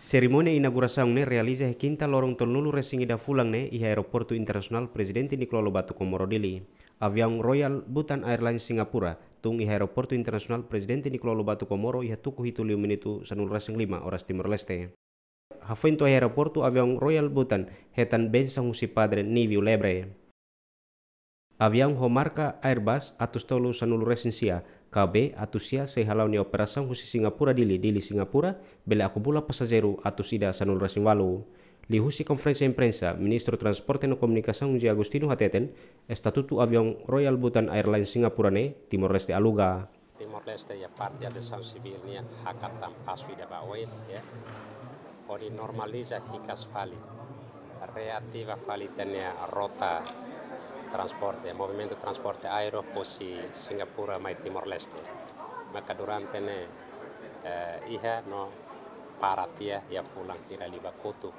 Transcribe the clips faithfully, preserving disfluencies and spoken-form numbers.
Serimónia inaugurasaun ne'e realiza iha kinta loron tolunulu resin ida fulan ne'e iha Aeroportu Internasionál Prezidente Nicolau Lobato Comoro Dili. Aviaun Royal Bhutan Airlines Singapura tun iha Aeroportu Internasionál Prezidente Nicolau Lobato Comoro iha tuku hitu liu minutu sanulu resin lima oras Timor-Leste. Hafoin to'o iha aeroportu, aviaun Royal Bhutan hetan bensaun husi Padre Niviu Lebre. Aviaun ho marka Airbus atus tolu sanulu resin sia, K B atus sia, sei hala'o nia operasaun husi Singapura Dili, Dili Singapura, bele akumula pasajeiru atus ida sanulu resin ualu. Liuhusi konferénsia imprensa, Ministru Transporte no Komunikasaun José Agostinho hateten, estatutu aviaun Royal Bhutan Airlines Singapura ne'e Timor-Leste aluga. Timor-Leste iha parte aviasaun sivíl nian hakatan pasu ida ba oin, ya. Hodi normaliza hikas fali, reativa fali ita-nia rota transporte, movimentu transporte aéreu husi Singapura mai Timor-Leste. Maka durante ne'e, eh, iha no para tiha iha fulan hira liubá kotuk,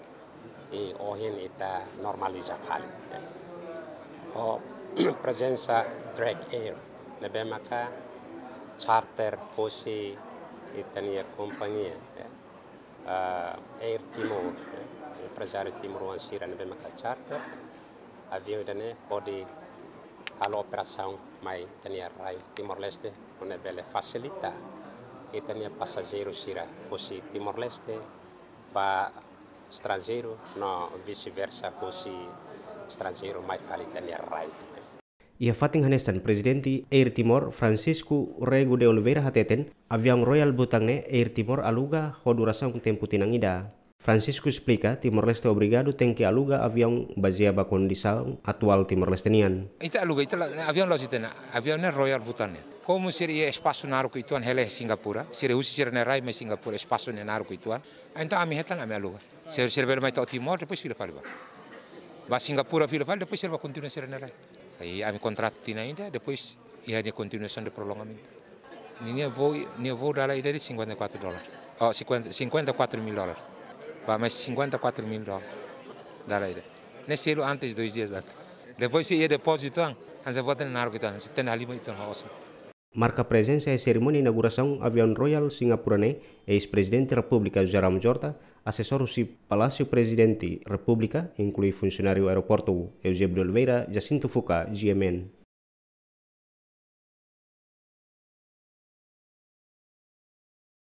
i ohin ita normaliza fali. Ho prezensa Drake Air, ne'ebé maka charter husi ita-nia kompañia, eh, Air Timor, eh, emprezáriu timoroan sira ne'ebé maka charter aviaun ida-ne'e hodi halo operasaun mai ita-nia rai Timor-Leste, nune'e bele fasilita ita-nia pasajeiru sira husi Timor-Leste ba estranjeiru no vice-versa, husi estranjeiru mai fali ita-nia rai. Iha fatin hanesan, Prezidente Air Timor, Francisco Rego de Oliveira hateten, aviaun Royal Bhutan ne'e Air Timor aluga ho durasaun tempu tinan ida. Francisco esplika, Timor-Leste obrigadu tenke aluga aviaun bazeia ba kondisaun atuál Timor-Leste nian. Ita aluga, ita la, aviaun la'ós ita-nia, aviaun ne'e Royal Bhutan nian. Komu sira iha espasu naruk uitoan hela iha Singapura, sira husi sira-nia rai mai Singapura, espasu ne'e naruk uitoan. Entaun ami hetan, ami aluga. Sira, sira bele mai to'o Timor, depois fila fali ba, ba Singapura fila fali, depois sira bá kontinua sira-nia rai. Aí ami kontratu tinan ida, depois iha nia kontinuasaun de prolongamentu. Nia, nia voo, nia voo dala ida de'it cinquenta e quatro dólares. Oh, cinquenta, cinquenta e quatro mil dólares. Ba, mais cinquenta e quatro mil dólares. Dala ida. Ne'e selu antes, dois dias antes. Depois sei iha depózitu an, hanesan buat ne'e naruk uitoan, sei tenke halimar uitoan ho osan. Marka prezensa iha serimónia inaugurasaun aviaun Royal Singapura ne'e, eis-Prezidente Repúblika José Ramos Horta, asesór husi Palásiu Prezidente Repúblika, inklui funsionáriu aeroportu, Eusébio de Oliveira, Jacinto Fuca, G M N.